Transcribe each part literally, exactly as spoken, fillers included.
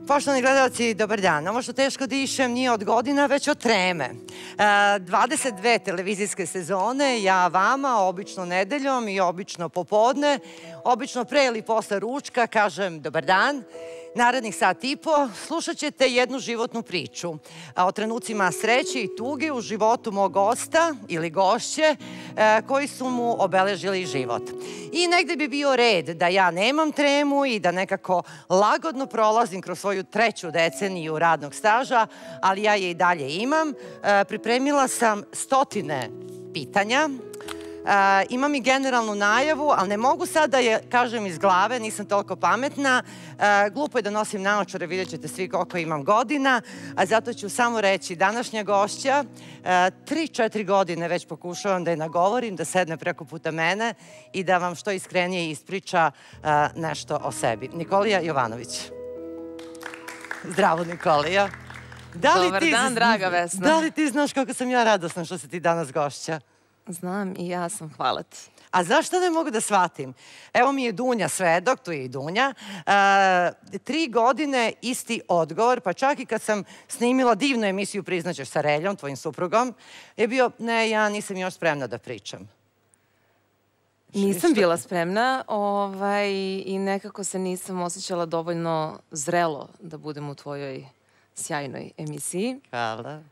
Poštovani gledalci, dobar dan. Ovo što teško dišem nije od godina, već od treme. dvadeset dve televizijske sezone, ja vama, obično nedeljom i obično popodne, obično pre ili posle ručka, kažem dobar dan. Narednih sat i po slušat ćete jednu životnu priču o trenucima sreće i tuge u životu mog gosta ili gošće koji su mu obeležili život. I negde bi bio red da ja nemam tremu i da nekako lagodno prolazim kroz svoju treću deceniju radnog staža, ali ja je i dalje imam. Pripremila sam stotine pitanja. Imam i generalnu najavu, ali ne mogu sad da je kažem iz glave, nisam toliko pametna. Glupo je da nosim naočare, vidjet ćete svi koliko imam godina, a zato ću samo reći današnja gošća, tri, četiri godine već pokušavam da je nagovorim, da sedne preko puta mene i da vam što iskrenije ispriča nešto o sebi. Nikolija Jovanović. Zdravo, Nikolija. Dobar dan, draga Vesna. Da li ti znaš kako sam ja radosna što si ti danas gošća? Znam i ja sam, hvala ti. A zašto ne mogu da shvatim? Evo mi je Dunja svedok, tu je i Dunja. Tri godine isti odgovor, pa čak i kad sam snimila divnu emisiju Priznaćeš sa Reljom, tvojim suprugom, je bio, ne, ja nisam još spremna da pričam. Nisam bila spremna i nekako se nisam osjećala dovoljno zrelo da budem u tvojoj sjajnoj emisiji. Hvala.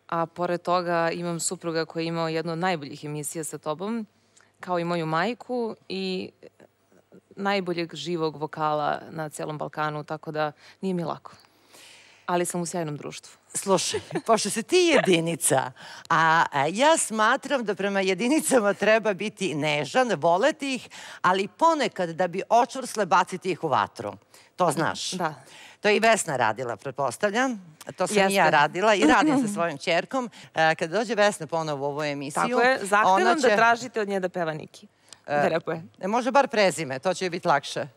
A pored toga imam supruga koji je imao jednu od najboljih emisija sa tobom, kao i moju majku i najboljeg živog vokala na celom Balkanu, tako da nije mi lako. Ali sam u sjajnom društvu. Slušaj, pošto si ti jedinica, a ja smatram da prema jedinicama treba biti nežan, voleti ih, ali ponekad da bi očvrsle baciti ih u vatru. To znaš. Da. To je i Vesna radila, pretpostavljam. To sam i ja radila i radim sa svojom ćerkom. Kada dođe Vesna ponovo u ovu emisiju... Tako je, zahtevam da tražite od nje da peva Niki. Da repuje. Može bar prezime, to će joj biti lakše.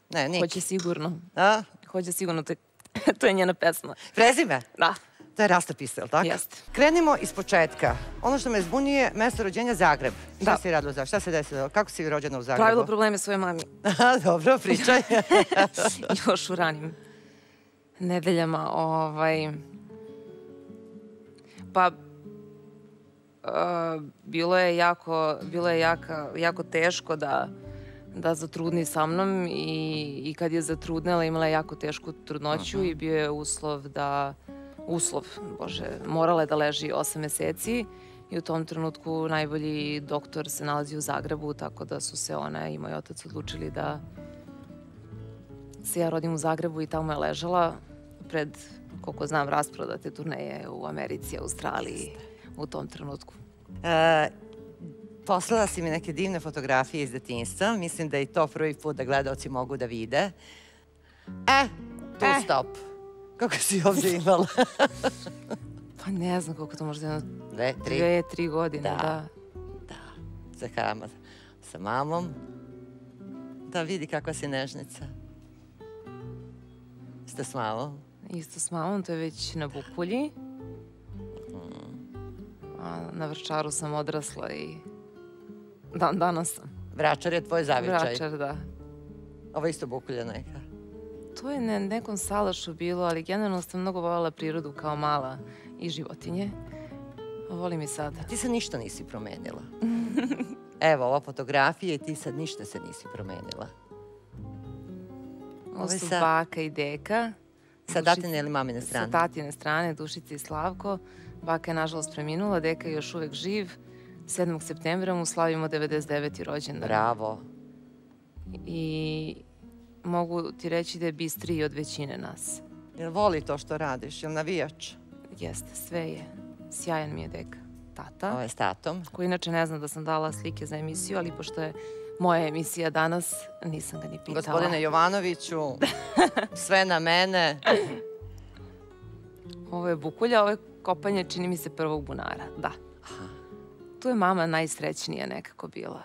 Ne, Niki. Hoće sigurno. A? Hoće sigurno, to je njena pesma. Prezime? Da. To je Rasta pisao, je li tako? Jeste. Krenimo iz početka. Ono što me zbunjuje, mesto rođenja Zagreb. Šta si radila u Zagrebu? Šta se desilo? Kako si rođena u Zagrebu? Pravila probleme svoje mami. Dobro, pričaj. Još u ranim nedeljama. Pa, bilo je jako, bilo je jako teško da da zatrudni sa mnom i kad je zatrudnela imala je jako tešku trudnoću i bio je uslov da, uslov, bože, morala je da leži osam meseci i u tom trenutku najbolji doktor se nalazi u Zagrebu, tako da su se ona i moj otac odlučili da se ja rodim u Zagrebu i tamo je ležala pred, koliko znam, rasprodate turneje u Americi, Australiji u tom trenutku. Poslala si mi neke divne fotografije iz detinjstva. Mislim da je to prvi put da gledalci mogu da vide. E, tu stop. Kako si ovdje imala? Pa ne znam koliko to možda jedno... Dve, tri? Dve, tri godine, da. Da, za kama. Sa mamom. Da, vidi kakva si nežnica. Ste s mamom? Isto s mamom, to je već na Bukulji. Na Vrčaru sam odrasla i dan danas sam. Vračar je tvoj zavičaj? Vračar, da. Ovo je isto Bukulja neka? To je na nekom salašu bilo, ali generalno sam mnogo voljela prirodu kao mala i životinje. Volim i sada. Ti sad ništa nisi promenila. Evo, ova fotografija i ti sad ništa se nisi promenila. Ovo su baka i deka. Sa tatine ili mamine strane? Sa tatine strane, Dušica i Slavko. Baka je nažalost preminula, deka je još uvek živ. sedmog septembra mu slavimo devedeset deveti rođendan. Bravo. I mogu ti reći da je bistriji od većine nas. Jel voli to što radiš? Jel navijač? Jeste, sve je. Sjajan mi je deka. Tata. Ovo je s tatom. Koji inače ne zna da sam dala slike za emisiju, ali pošto je moja emisija danas, nisam ga ni pitala. Gospodine Jovanoviću, sve na mene. Ovo je Bukulja, ovo je kopanje, čini mi se, prvog bunara, da. Tu je mama najsrećnija nekako bila.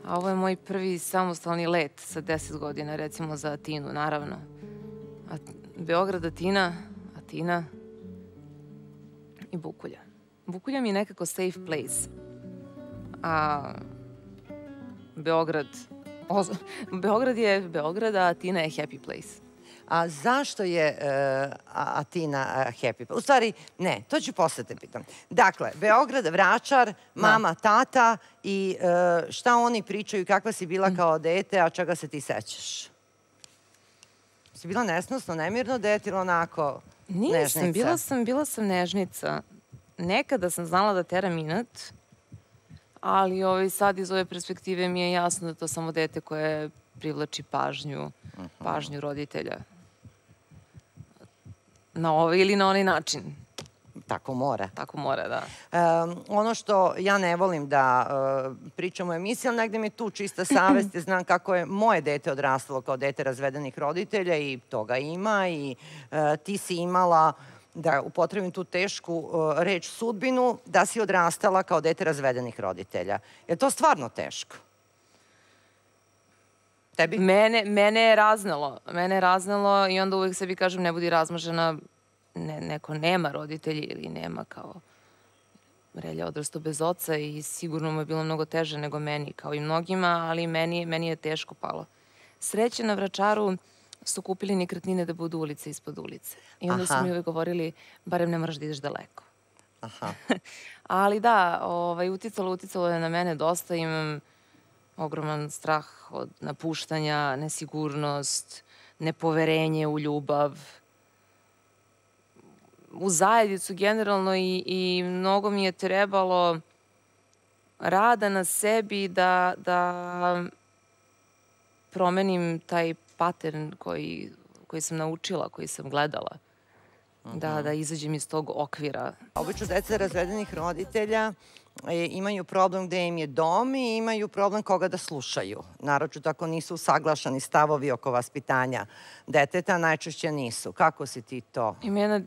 A ovo je moj prvi samostalni let sa deset godina, recimo za Atinu, naravno. Beograd, Atina, Atina i Bukulja. Bukulja mi je nekako safe place. A Beograd... Beograd je Beograd, a Atina je happy place. A zašto je Atina happy? U stvari, ne, to ću posle te pitam. Dakle, Beograd, Vračar, mama, tata i šta oni pričaju, kakva si bila kao dete, a čega se ti sećaš? Si bila nesnosno, nemirno dete ili onako nežnica? Nisam, bila sam, bila sam nežnica. Nekada sam znala da teram inat, ali sad iz ove perspektive mi je jasno da to samo dete koje privlači pažnju, pažnju roditelja. Na ovaj ili na onaj način. Tako mora. Tako mora, da. Ono što ja ne volim da pričam u emisiji, ali negde mi je tu čista savest, znam kako je moje dete odrastalo kao dete razvedenih roditelja i toga ima i ti si imala, da upotrebim tu tešku reč, sudbinu, da si odrastala kao dete razvedenih roditelja. Je to stvarno teško? Tebi? Mene je raznalo. Mene je raznalo i onda uvek sebi kažem ne budi razmažena, neko nema roditelji ili nema kao Relja odrasto bez oca i sigurno mu je bilo mnogo teže nego meni, kao i mnogima, ali meni je teško palo. Sreće na Vračaru su kupili nekretnine da budu ulice ispod ulice. I onda su mi uvek govorili, barem ne moraš da ideš daleko. Ali da, uticalo, uticalo je na mene dosta, imam ogroman strah od napuštanja, nesigurnost, nepoverenje u ljubav, u zajednicu generalno i mnogo mi je trebalo rada na sebi da promenim taj pattern koji sam naučila, koji sam gledala, da izađem iz tog okvira. Obično deca razvedenih roditelja imaju problem gde im je dom i imaju problem koga da slušaju. Naročito ako nisu usaglašani stavovi oko vaspitanja deteta, najčešće nisu. Kako si ti to? Ima jedna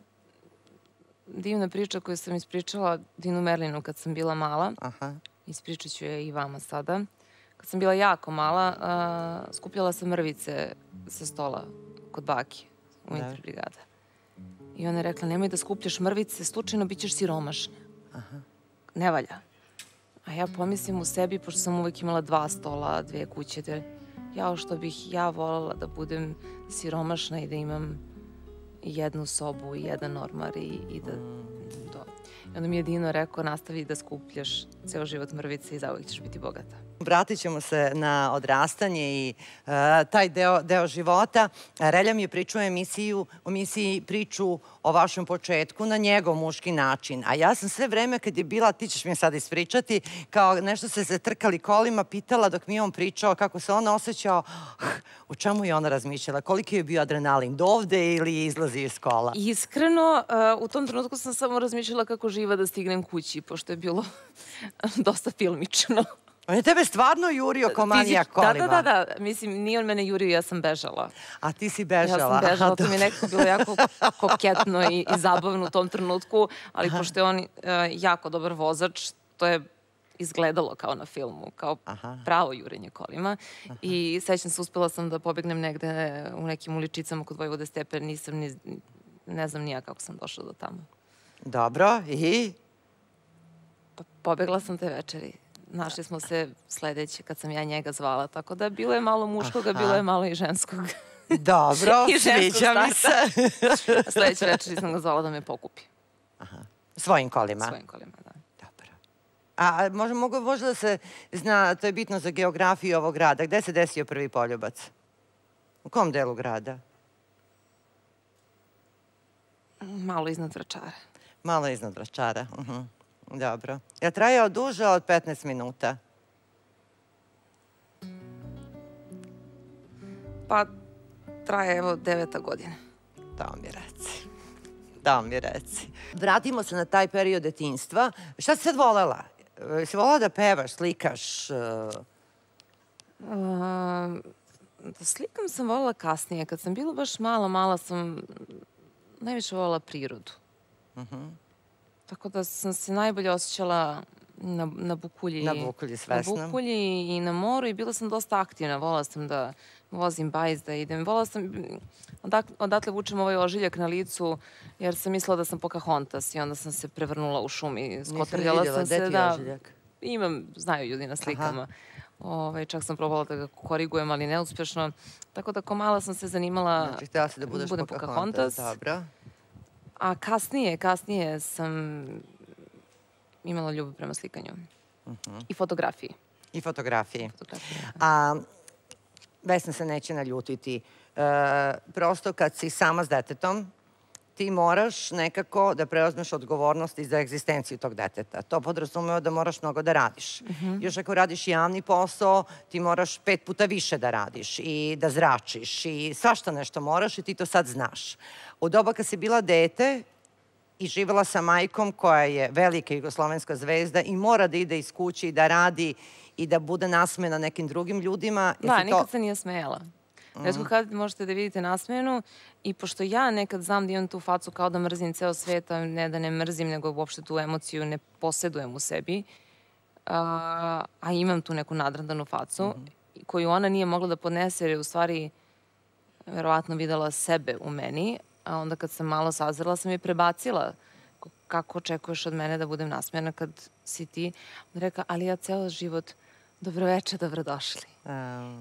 divna priča koju sam ispričala Dinu Merlinu kad sam bila mala. Ispričat ću je i vama sada. Kad sam bila jako mala, skupljala sam mrvice sa stola kod baki u interbrigada. I ona je rekla, nemoj da skupljaš mrvice, slučajno bit ćeš siromašna. Ne valja. A ja pomislim u sebi, pošto sam uvek imala dva stola, dve kuće, jao što bih ja voljela da budem siromašna i da imam jednu sobu i jedan ormar i da to. I onda mi je Dino rekao, nastavi da skupljaš ceo život mrvice i zauvek ćeš biti bogata. Vratit ćemo se na odrastanje i taj deo života. Relja mi je pričao u emisiji priču o vašem početku na njegov muški način. A ja sam sve vreme kad je bila, ti ćeš mi je sad ispričati, kao nešto se zatrkali kolima, pitala dok mi je on pričao kako se on osjećao, u čemu je ona razmišljala, koliki je bio adrenalin, do ovde ili izlazi iz kola? Iskreno, u tom trenutku sam samo razmišljala kako živa da stignem kući, pošto je bilo dosta filmično. On je tebe stvarno jurio ko manijak kolima. Da, da, da. Mislim, nije on mene jurio, ja sam bežala. A ti si bežala. Ja sam bežala, to mi je nekako bilo jako koketno i zabavno u tom trenutku, ali pošto je on jako dobar vozač, to je izgledalo kao na filmu, kao pravo jurenje kolima. I sećam se, uspela sam da pobegnem negde u nekim uličicama kod Vojvode Stepe, nisam ni, ne znam nija kako sam došla do tamo. Dobro, i? Pobegla sam te večeri. Našli smo se sledeće kad sam ja njega zvala, tako da bilo je malo muškoga, bilo je malo i ženskog. Dobro, sviđa mi se. Sledeće večeri sam ga zvala da me pokupi. Svojim kolima? Svojim kolima, da. Dobro. A možda da se zna, to je bitno za geografiju ovog grada, gde se desio prvi poljubac? U kom delu grada? Malo iznad Vračara. Malo iznad Vračara, mhm. Dobro. Je li trajao duže od petnaest minuta? Pa, traje evo deveta godina. Dao mi reci. Dao mi reci. Vratimo se na taj period detinjstva. Šta si sad volela? Si volela da pevaš, slikaš? Da slikam sam volela kasnije. Kad sam bila baš mala, mala sam najviše volela prirodu. Mhm. Tako da sam se najbolje osjećala na Bukulji. Na Bukulji, svesno. Na Bukulji i na moru i bila sam dosta aktivna. Volala sam da vozim bajs, da idem. Volala sam, odatle vučem ovaj ožiljak na licu, jer sam mislila da sam Pocahontas i onda sam se prevrnula u šumi. Nisam vidjela, gde ti je ožiljak? Imam, znaju ljudi na slikama. Čak sam probala da ga korigujem, ali neuspešno. Tako da ko mala sam se zanimala Znači, htjela si da budeš Pocahontas, dobro. A kasnije, kasnije sam imala ljubav prema slikanju. I fotografiji. I fotografiji. A Vesna se neće naljutiti. Prosto kad si sama s detetom, ti moraš nekako da preuzmeš odgovornost i za egzistenciju tog deteta. To podrazumeva da moraš mnogo da radiš. Još ako radiš javni posao, ti moraš pet puta više da radiš i da zračiš i svašta nešto moraš i ti to sad znaš. U doba kad si bila dete i živela sa majkom koja je velika jugoslovenska zvezda i mora da ide iz kuće i da radi i da bude nasmejana nekim drugim ljudima. Da, nikad se nije smejala. Retko kad možete da vidite nasmejanu i pošto ja nekad znam da imam tu facu kao da mrzim ceo svet, a ne da ne mrzim, nego uopšte tu emociju ne posjedujem u sebi, a imam tu neku nadrndanu facu koju ona nije mogla da podnese jer je u stvari verovatno videla sebe u meni, a onda kad sam malo sazrela sam je prebacila kako očekuješ od mene da budem nasmejana kad si ti. Onda reka, ali ja ceo život dobroveče, dobrodošli.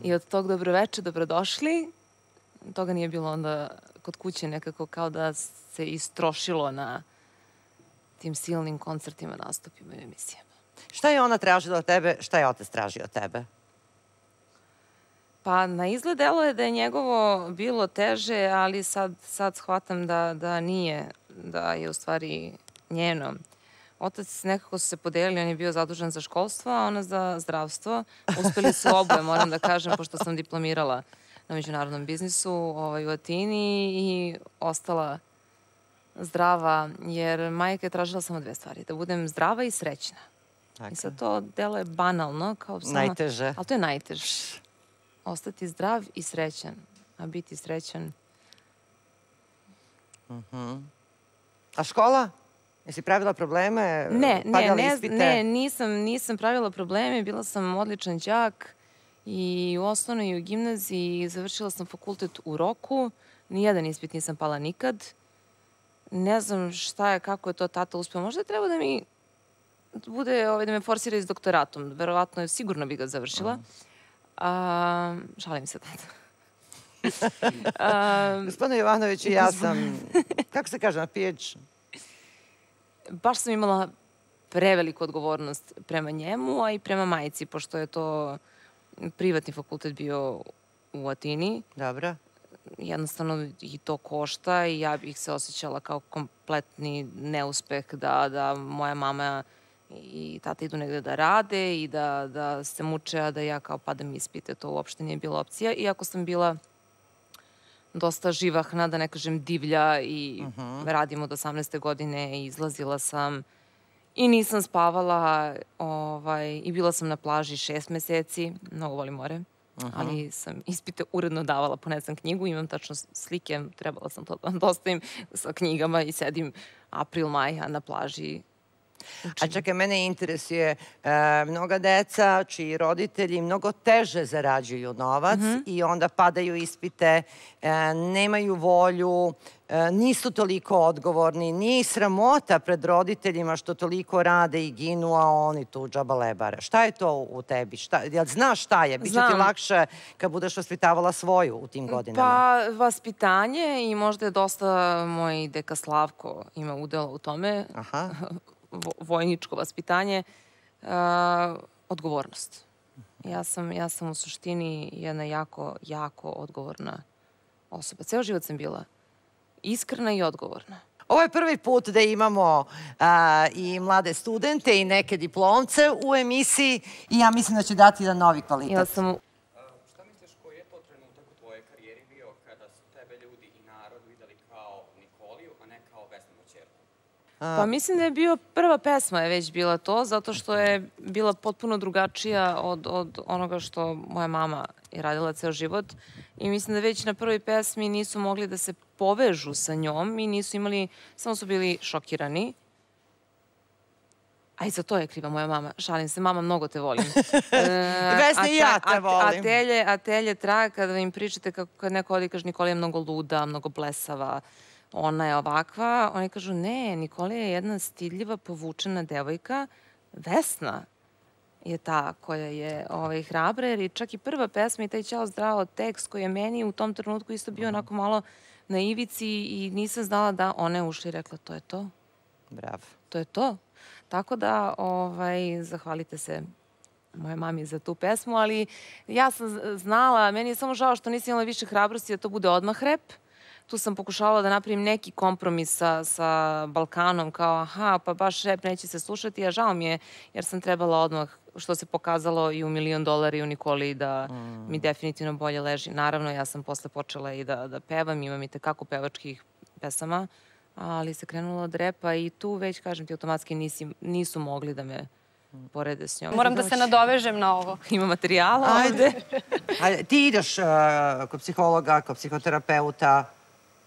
I od tog dobroveče, dobrodošli, toga nije bilo onda kod kuće nekako kao da se istrošilo na tim silnim koncertima, nastupima i emisijama. Šta je ona tražila od tebe, šta je otac tražio od tebe? Pa na izgled delo je da je njegovo bilo teže, ali sad shvatam da nije, da je u stvari njeno. Otac nekako su se podelili, on je bio zadužen za školstvo, a ona za zdravstvo. Uspeli su oboje, moram da kažem, pošto sam diplomirala na međunarodnom biznisu u Atini i ostala zdrava, jer majka je tražila samo dve stvari, da budem zdrava i srećna. I sad to delo je banalno. Najteže. Ali to je najteže. Ostati zdrav i srećan, a biti srećan. A škola? Jesi pravila probleme? Ne, ne, nisam pravila probleme. Bila sam odličan đak i u osnovnoj i u gimnaziji. Završila sam fakultet u roku. Nijedan ispit nisam pala nikad. Ne znam šta je, kako je to tata uspeo. Možda je treba da mi bude, da me forsira i s doktoratom. Verovatno, sigurno bi ga završila. Šalim se tata. Gospodine Jovanović i ja sam, kako se kaže, na piječ? Baš sam imala preveliku odgovornost prema njemu, a i prema majici, pošto je to privatni fakultet bio u Atini. Dobro. Jednostavno i to košta i ja bih se osjećala kao kompletni neuspeh da moja mama i tata idu negde da rade i da se muče, a da ja kao padam ispite. To uopšte nije bila opcija. Iako sam bila dosta živahna, da ne kažem divlja i radim od osamnaeste godine i izlazila sam i nisam spavala i bila sam na plaži šest meseci, mnogo volim more, ali sam ispite uredno davala, ponesam knjigu, imam tačno slike, trebala sam to da dostavim sa knjigama i sedim april, maj, a na plaži. A čekaj, mene interesuje, mnoga deca čiji roditelji mnogo teže zarađuju novac i onda padaju ispite, nemaju volju, nisu toliko odgovorni, nije sramota pred roditeljima što toliko rade i ginu, a oni tu džaba lebare. Šta je to u tebi? Jel znaš šta je? Biće ti lakše kad budeš vaspitavala svoju u tim godinama? Pa, vaspitanje i možda je dosta moj deka Slavko ima udela u tome. Aha. Vojničko vaspitanje, odgovornost. Ja sam u suštini jedna jako, jako odgovorna osoba. Ceo život sam bila iskrena i odgovorna. Ovo je prvi put da imamo i mlade studente i neke diplomce u emisiji i ja mislim da će dati jedan novi kvalitet. Ja sam... Šta misliš, koji je to trenutak u tvojoj karijeri bio kada su tebe ljudi i narod videli kao Nikoliju, a ne kao Vesninu ćerku? Pa mislim da je bio, prva pesma je već bila to, zato što je bila potpuno drugačija od onoga što moja mama je radila ceo život. I mislim da već na prvoj pesmi nisu mogli da se povežu sa njom i nisu imali, samo su bili šokirani. A i za to je kriva moja mama. Šalim se, mama, mnogo te volim. Vesna i ja te volim. A telje traga kada im pričate kad neko odi kaže Nikolija je mnogo luda, mnogo blesava, ona je ovakva. Oni kažu ne, Nikolija je jedna stidljiva, povučena devojka, Vesna je ta koja je ovaj, hrabra, jer i čak i prva pesma i taj Ćao zdravo tekst koji je meni u tom trenutku isto bio onako malo na ivici i nisam znala da ona je ušla i rekla to je to. Bravo. To je to. Tako da, ovaj, zahvalite se moje mami za tu pesmu, ali ja sam znala, meni je samo žao što nisam imala više hrabrosti da to bude odmah rep. Tu sam pokušavala da napravim neki kompromis sa, sa Balkanom, kao aha, pa baš rep neće se slušati, a žao mi je, jer sam trebala odmah, što se pokazalo i u Milion dolara i u Nikoli, da mm. mi definitivno bolje leži. Naravno, ja sam posle počela i da, da pevam, imam i tekako pevačkih pesama, ali se krenula od repa i tu već, kažem ti, automatski nisi, nisu mogli da me porede s njom. Moram da se nadovežem na ovo. Ima materijala Ajde. ovde. Ajde. Ti ideš uh, kod psihologa, kod psihoterapeuta.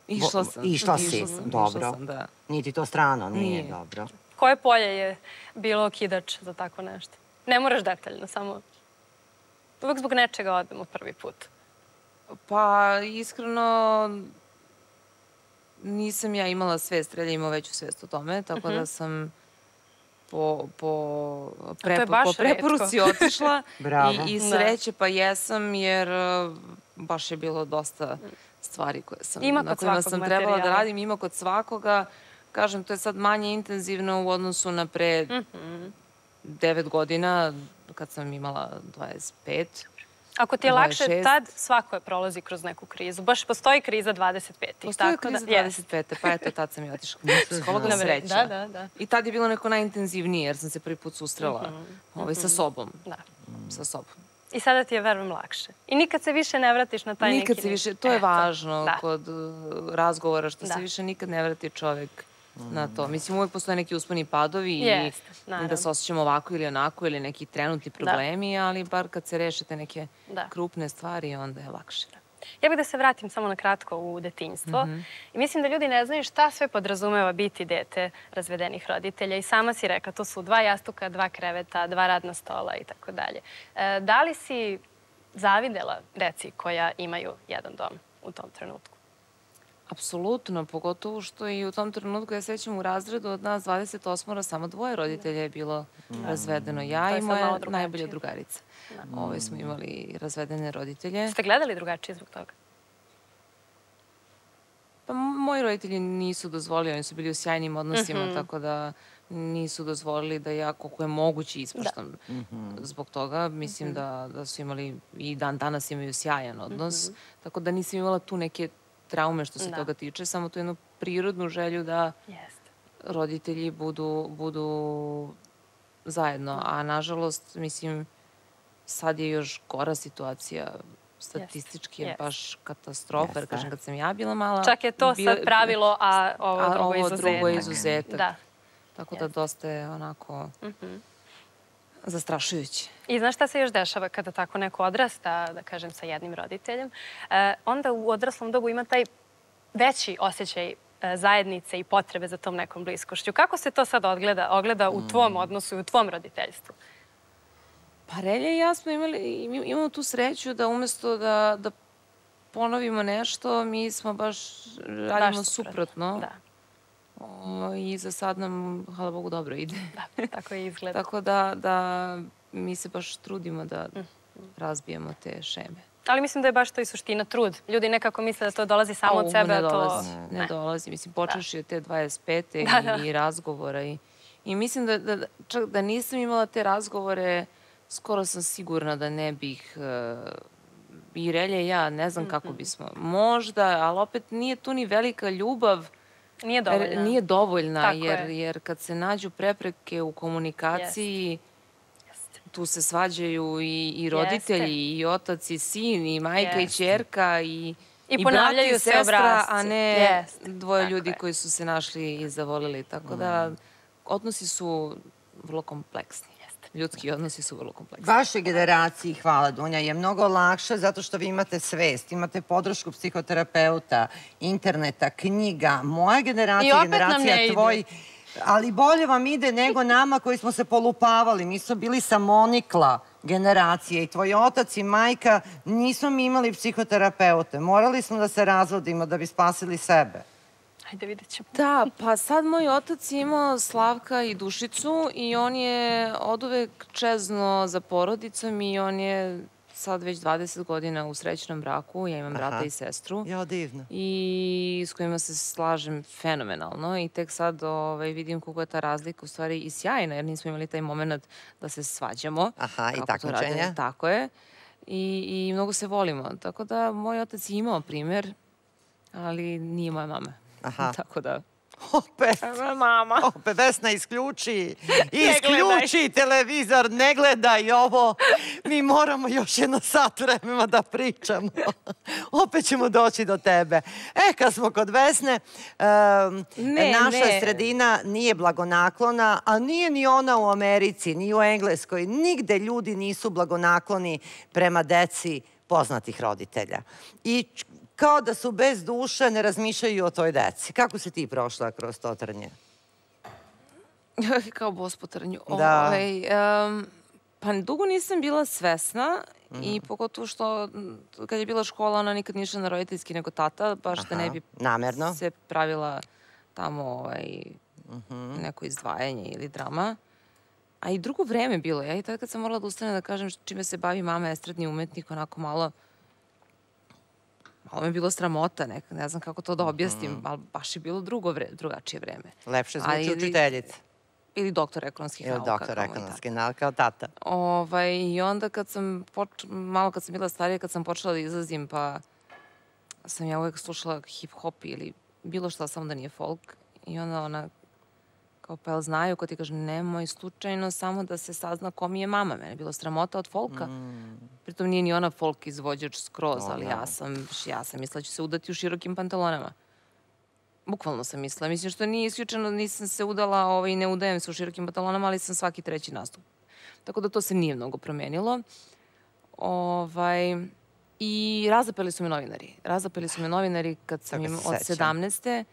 Išla sam. Išla si, išla sam, dobro. Išla sam, da. Nije ti to strano, nije, Nije. dobro. Koje polje je bilo okidač za tako nešto? Ne moraš detaljno, samo uvek zbog nečega odemo prvi put. Pa, iskreno, nisam ja imala svest, Relja imao veću svest o tome, tako da sam po, po, prepo, po preporuci otišla. I, i sreće pa jesam, jer baš je bilo dosta stvari koje sam, na kojima sam trebala da radim. Ima kod svakoga. Kažem, to je sad manje intenzivno u odnosu na pre devet godina, kad sam imala dvadeset pet. Ako ti je lakše tad, svako je prolazi kroz neku krizu. Baš postoji kriza dvadeset pet. Postoji kriza dvadeset pet. Pa eto, tad sam i otišla kod psihologa, sreća. Da, da, da. I tad je bilo neko najintenzivnije, jer sam se prvi put susrela sa sobom. Da. Sa sobom. I sada ti je, verujem, lakše. I nikad se više ne vratiš na taj neki... Nikad se više, to je važno kod razgovora, što se više nikad ne vrati čovek na to. Mislim, uvijek postoje neki usponi padovi i da se osjećamo ovako ili onako ili neki trenutni problemi, ali bar kad se rešite neke krupne stvari, onda je lakše. Ja bih da se vratim samo na kratko u detinjstvo. I mislim da ljudi ne znaju šta sve podrazumeva biti dete razvedenih roditelja. I sama si rekla, to su dva jastuka, dva kreveta, dva radna stola i tako dalje. Da li si zavidela deci koja imaju jedan dom u tom trenutku? Apsolutno, pogotovo što i u tom trenutku, ja sećam u razredu od nas dvadeset osmora, samo dvoje roditelja je bilo razvedeno. Ja i moja najbolja drugarica. Ove smo imali razvedene roditelje. Ste gledali drugačije zbog toga? Pa moji roditelji nisu dozvolili, oni su bili u sjajnim odnosima, tako da nisu dozvolili da ja, koliko je moguće, ispraštam zbog toga. Mislim da su imali, i dan danas imaju sjajan odnos, tako da nisam imala tu neke traume što se toga tiče, samo tu jednu prirodnu želju da roditelji budu zajedno. A nažalost, mislim, sad je još gora situacija. Statistički je baš katastrofa, jer kažem, kad sam ja bila mala... Čak je to sad pravilo, a ovo drugo izuzetak. Ovo drugo je izuzetak. Tako da dosta je onako zastrašujuće. I znaš šta se još dešava kada tako neko odrasta, da kažem, sa jednim roditeljem? Onda u odraslom dobu ima taj veći osjećaj zajednice i potrebe za tom nekom bliskošću. Kako se to sad ogleda u tvom odnosu i u tvom roditeljstvu? Pa Relja i ja smo imali, imamo tu sreću da umesto da ponovimo nešto, mi smo baš radimo suprotno. Da. I za sad nam, hvala Bogu, dobro ide. Da, tako i izgleda. Tako da mi se baš trudimo da razbijemo te šeme. Ali mislim da je baš to i suština, trud. Ljudi nekako misle da to dolazi samo od sebe, a to... Ne dolazi, ne dolazi. Mislim, počeš i od te dvadeset pete i razgovora. I mislim da čak da nisam imala te razgovore, skoro sam sigurna da ne bih... I Relja i ja, ne znam kako bismo. Možda, ali opet nije tu ni velika ljubav. Nije dovoljna. Nije dovoljna, jer kad se nađu prepreke u komunikaciji, tu se svađaju i roditelji, i otac, i sin, i majka, i ćerka, i brat i sestra, a ne dvoje ljudi koji su se našli i zavolili. Tako da odnosi su vrlo kompleksni. Ljudski odnosi su vrlo kompleksni. Vašoj generaciji, hvala Dunja, je mnogo lakše zato što vi imate svest, imate podršku psihoterapeuta, interneta, knjiga. Moja generacija, generacija tvoj, ali bolje vam ide nego nama koji smo se polupavali. Mi smo bili samonikla generacije i tvoj otac i majka nismo mi imali psihoterapeute. Morali smo da se razvodimo da bi spasili sebe. Ajde, vidjet ćemo. Da, pa sad moj otac je imao Slavka i Dušicu i on je oduvek čezno za porodicom i on je sad već dvadeset godina u srećnom braku. Ja imam brata i sestru. Jo, divno. I s kojima se slažem fenomenalno i tek sad vidim kako je ta razlika u stvari i sjajna, jer nismo imali taj moment da se svađamo. Aha, i takmičenja. Tako je. I mnogo se volimo. Tako da moj otac je imao primer, ali nije moja mama. Aha. Tako da... Opet. Mama. Opet, Vesna, isključi. Isključi televizor, ne gledaj ovo. Mi moramo još jedno sat vremena da pričamo. Opet ćemo doći do tebe. E, kad smo kod Vesne, naša sredina nije blagonaklona, a nije ni ona u Americi, ni u Engleskoj. Nigde ljudi nisu blagonakloni prema deci poznatih roditelja. I kao da su bez duše, ne razmišljaju o toj deci. Kako si ti prošla kroz to trnje? Kao bos po trnju. Da. Pa dugo nisam bila svesna i pogotovo što kad je bila škola, ona nikad nije išla na roditeljski nego tata, baš da ne bi se pravila tamo neko izdvajanje ili drama. A i drugo vreme bilo. Ja i tada kad sam morala da ustane da kažem čime se bavi mama, estradni umetnik, onako malo... Ovo mi je bilo sramota, ne znam kako to da objasnim, ali baš je bilo drugačije vreme. Lepše zvuči učiteljica. Ili doktor ekonomskih nauka. Ili doktor ekonomskih nauka, kao tata. I onda kad sam, malo kad sam bila starija, kad sam počela da izlazim, pa sam ja uvek slušala hip-hop ili bilo šta, samo da nije folk. I onda ona, kao pa jel znaju, ko ti kaže, nemoj slučajno samo da se sazna ko mi je mama. Mene je bilo sramota od folka. Pritom nije ni ona folk izvođač skroz, ali ja sam, ja sam mislila da ću se udati u širokim pantalonama. Bukvalno sam mislila. Mislim što nije isključeno, nisam se udala i ne udajem se u širokim pantalonama, ali sam svaki treći nastup. Tako da to se nije mnogo promenilo. I razapeli su me novinari. Razapeli su me novinari kad sam im od sedamnaeste.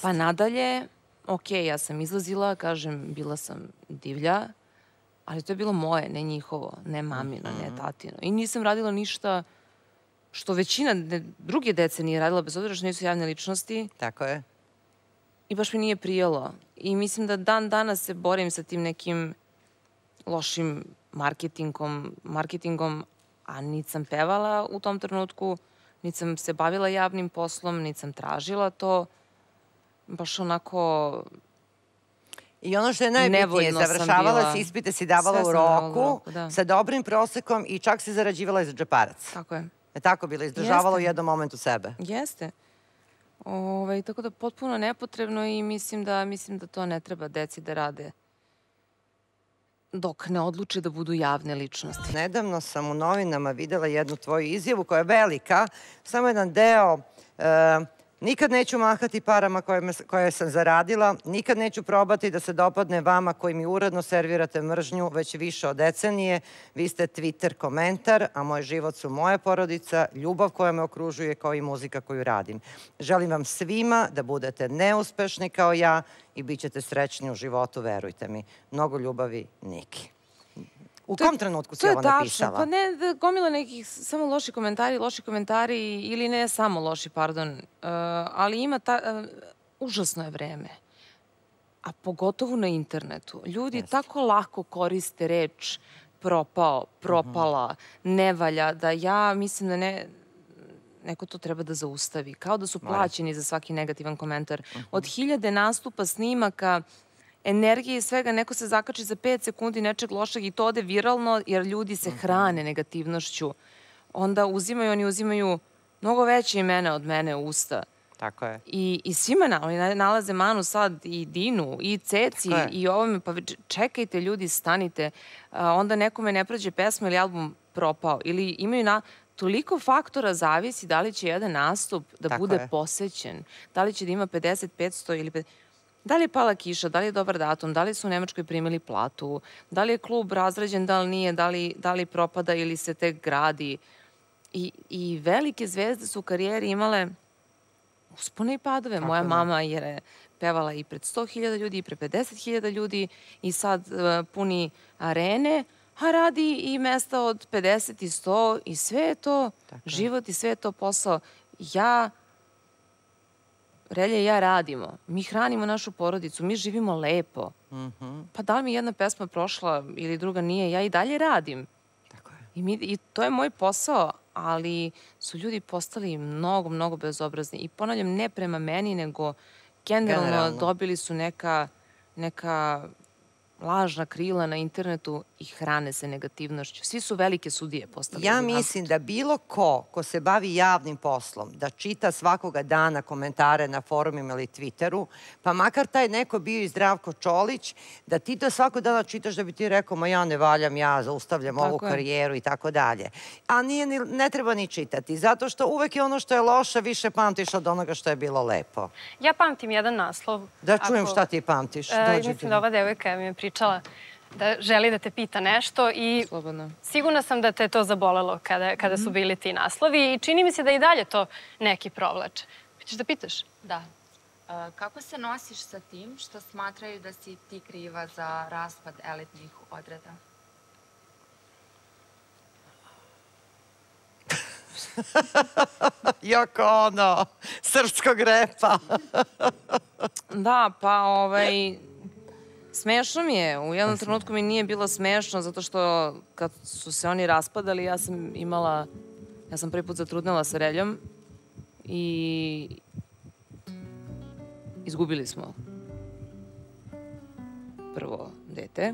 Pa nadalje, ok, ja sam izlazila, kažem, bila sam divlja, ali to je bilo moje, ne njihovo, ne mamino, ne tatino. I nisam radila ništa što većina druge dece nije radila, bez obzira što nisu javne ličnosti. Tako je. I baš mi nije prijelo. I mislim da dan danas se borim sa tim nekim lošim marketingom, a niti sam pevala u tom trenutku, niti sam se bavila javnim poslom, niti sam tražila to. Baš onako... I ono što je najbitnije, završavala si ispite, si davala u roku, sa dobrim prosekom i čak si zarađivala i za džeparac. Tako je. Je tako bilo, izdržavala u jednom momentu sebe. Jeste. Tako da potpuno nepotrebno i mislim da to ne treba deci da rade dok ne odluče da budu javne ličnosti. Nedavno sam u novinama videla jednu tvoju izjavu koja je velika, samo jedan deo... Nikad neću mahati parama koje sam zaradila, nikad neću probati da se dopadne vama koji mi uredno servirate mržnju već više od decenije. Vi ste Twitter komentar, a moj život su moja porodica, ljubav koja me okružuje kao i muzika koju radim. Želim vam svima da budete neuspešni kao ja i bit ćete srećni u životu, verujte mi. Mnogo ljubavi, Niki. U kom trenutku si ovo napisala? To je tačno. Pa ne, gomila nekih samo loši komentari, loši komentari ili ne samo loši, pardon. Ali ima ta... Užasno je vreme. A pogotovo na internetu. Ljudi tako lako koriste reč propao, propala, ne valja, da ja mislim da ne... Neko to treba da zaustavi. Kao da su plaćeni za svaki negativan komentar. Od hiljade nastupa, snimaka, energije i svega, neko se zakači za pet sekundi nečeg lošeg i to ode viralno, jer ljudi se hrane negativnošću. Onda uzimaju, oni uzimaju mnogo veće imena od mene u usta. Tako je. I svima oni nalaze manu sad i Dinu, i Ceci, i ovome, pa čekajte ljudi, stanite. Onda nekome ne prođe pesma ili album propao. Ili imaju na... Toliko faktora zavisi da li će jedan nastup da bude posećen, da li će da ima pedeset, petsto ili... Da li je pala kiša, da li je dobar datum, da li su u Nemačkoj primili platu, da li je klub razrađen, da li nije, da li propada ili se tek gradi. I velike zvezde su u karijeri imale uspone i padove. Moja mama je pevala i pred sto hiljada ljudi, i pred pedeset hiljada ljudi i sad puni arene, a radi i mesta od pedeset i sto i sve je to život i sve je to posao. Ja Relja i ja radimo. Mi hranimo našu porodicu, mi živimo lepo. Pa da li mi jedna pesma prošla ili druga nije, ja i dalje radim. Tako je. I, mi, I to je moj posao, ali su ljudi postali mnogo, mnogo bezobrazni. I ponavljam, ne prema meni, nego generalno, Generalno. dobili su neka, neka lažna krila na internetu i hrane se negativnošću. Svi su velike sudije postali. Ja mislim da bilo ko ko se bavi javnim poslom, da čita svakoga dana komentare na forumima ili Twitteru, pa makar taj neko bio i Zdravko Čolić, da ti to svako dana čitaš da bi ti rekao, ma ja ne valjam, ja zaustavljam ovu karijeru i tako dalje. A nije, ne treba ni čitati, zato što uvek je ono što je loše više pamtiš od onoga što je bilo lepo. Ja pamtim jedan naslov. Da čujem šta ti pamtiš. Mislim da ova devojka mi je pričala da želi da te pita nešto i sigurna sam da te to zabolelo kada su bili ti naslovi i čini mi se da i dalje to neki provlače. Hoćeš da pitaš? Da. Kako se nosiš sa tim što smatraju da si ti kriva za raspad elitnih odreda? Joko ono, srpskog repa. Da, pa ovaj... Smešno mi je. U jednom trenutku mi nije bilo smešno zato što kad su se oni raspadali, ja sam imala, ja sam prvi put zatrudnela sa Reljom i izgubili smo prvo dete.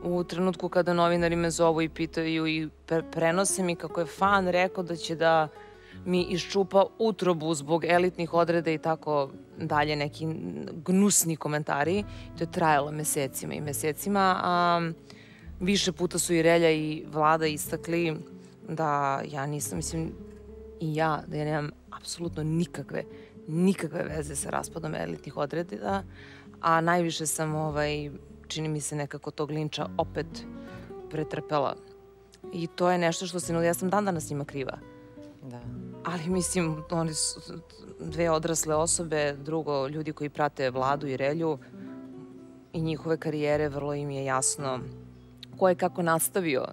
U trenutku kada novinari me zovu i pitaju i prenose mi kako je fan rekao da će da mi iščupa utrobu zbog elitnih odreda i tako dalje, neki gnusni komentari. To je trajalo mesecima i mesecima, a više puta su i Relja i Vlada istakli da ja nisam, mislim, i ja, da ja nemam apsolutno nikakve, nikakve veze sa raspadom elitnih odreda, a najviše sam, ovaj, čini mi se nekako tog linča opet pretrpela. I to je nešto što se, ja sam dan danas njima kriva. Da. Ali mislim, oni su dve odrasle osobe, drugo, ljudi koji prate Vladu i Relju i njihove karijere, vrlo im je jasno ko je kako nastavio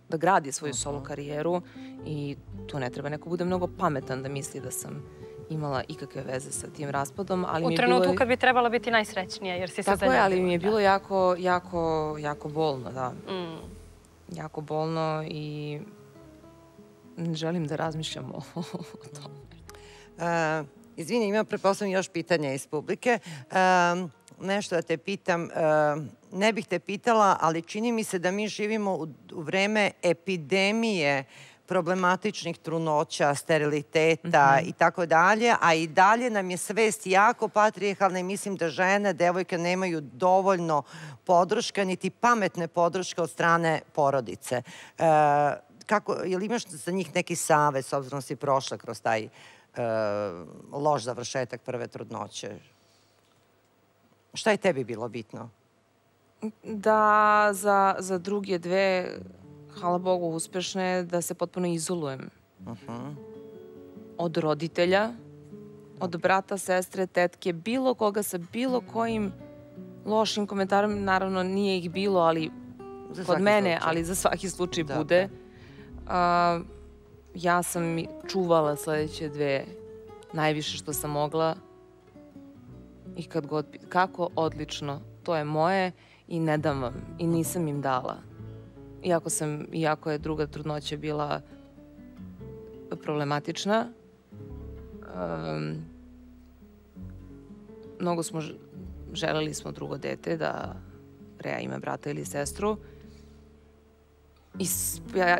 da gradi svoju solo karijeru i tu ne treba neko bude mnogo pametan da misli da sam imala ikakve veze sa tim raspadom. U trenutku kad bi trebala biti najsrećnija, jer si se zaljubila. Tako je, ali mi je bilo jako, jako, jako bolno, da. Jako bolno i ne želim da razmišljam o tome. Izvini, imam pretpostavljam još pitanja iz publike. Nešto da te pitam, ne bih te pitala, ali čini mi se da mi živimo u vreme epidemije problematičnih trudnoća, steriliteta i tako dalje, a i dalje nam je svest jako patrijarhalna i mislim da žene, devojke nemaju dovoljno podrške, niti pametne podrške od strane porodice. Je li imaš za njih neki savet, s obzirom si prošla kroz taj loš završetak prve trudnoće? Šta je tebi bilo bitno? Da za druge dve, hvala Bogu, uspešne, da se potpuno izolujem. Od roditelja, od brata, sestre, tetke, bilo koga sa bilo kojim lošim komentarom. Naravno, nije ih bilo, ali kod mene, ali za svaki slučaj bude. Ja sam čuvala sledeće dve najviše što sam mogla i kad god, kako odlično, to je moje i ne dam vam i nisam im dala. Iako sam, iako je druga trudnoća bila problematična, mnogo smo, želeli smo drugo dete, da Rea ima brata ili sestru. I